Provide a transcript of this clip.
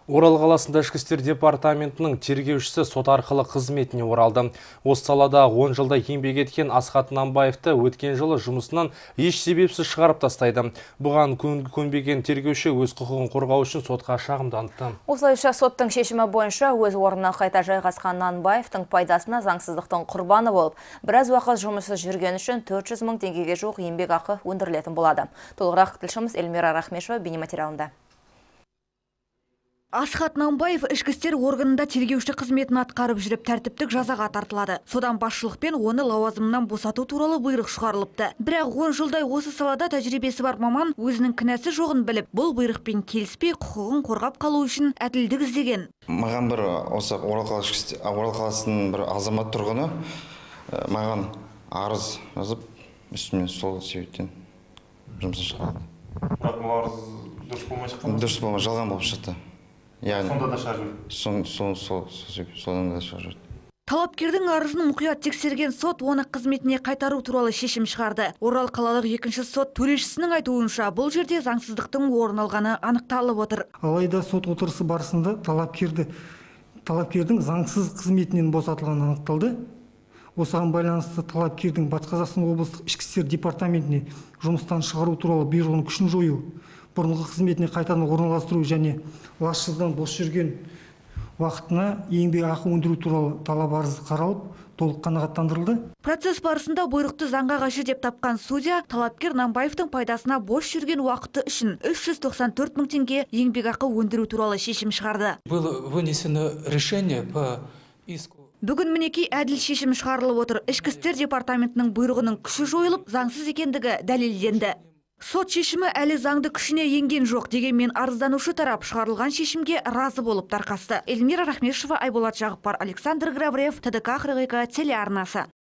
Орал қаласында ішкі істер департаментінің тергеушісі сот арқылы қызметіне оралды. Осы салада 10 жылда еңбек еткен Асхат Намбаевты өткен жылы жұмысынан еш себепсіз шығарып тастайды. Бұған көнбеген тергеуші өз құқығын қорғау үшін сотқа шағымданыпты. Осылайша соттың шешімі бойынша өз орнына қайта жайғасқан Намбаевтың пайдасына заңсыздықтың құрбаны болып, біраз уақыт жұмыссыз жүрген үшін 400 мың теңгеге жуық еңбек ақы өндірілетін болады. Толығырақ тілшіміз Эльмира Рахмешева бейнематериалында. Асхат Намбаев ішкі істер органында тергеуші қызметін атқарып жүріп тәртіптік жазаға тартылады. Содан басшылықпен оны лауазымынан босату туралы бұйрық шығарылыпты. Бірақ 10 жылдай осы салада тәжірибесі бар маман өзінің кінәсі жоғын біліп, бұл бұйрықпен келіспей құқығын қорғап қалу үшін әділдік іздеген. Маған бір осы Орал қаласының бір азамат тұрғыны маған арыз жазып, үстімен сол себептен жұмыстан шығарды. Бірақ бұл арыз дұрыс болмай шыққан? Дұрыс болмай, жалған болып шықты. Сонда да шығарып жүрді? Содан да шығарып жүрді. Талапкердің арызын мұқият тексерген сот оны қызметіне қайтару туралы шешім шығарды. Орал қалалық екінші сот төрешісінің айтуынша бұл жерде заңсыздықтың орын алғаны анықталып отыр. Алайда сот отырысы барысында талапкердің заңсыз қызметінен босатылғаны анықталды. Осыған байланысты талапкердің Батыс Қазақстан облыстық ішкі істер департаментіне жұмыстан шығару туралы бұйрығының күшін жою, бұрынғы қызметіне қайтадан орналастыру және лажсыздан бос жүрген уақытына еңбек ақы өндіру туралы талап арыз қаралып, толық қанағаттандырылды. Процесс барысында бұйрықты заңға қайшы деп тапқан судья талапкер Намбаевтың пайдасына бос жүрген уақыты үшін 394 мың теңге еңбек ақы өндіру туралы шешім шығарды. Было вынесено решение по иску. Бүгін мінекей әділ шешім шығарылып отыр. Ішкі істер департаментінің бұйрығының күші жойылып, заңсыз екендігі дәлелденді. Сот шешімі әлі заңды күшіне енген жоқ, дегенмен арызданушы тарап шығарылған шешімге разы болып тарқасты. Эльмира Рахмешева, Айболат Жағыпар, Александр Грабрев, ТДК 42 телеарнасы.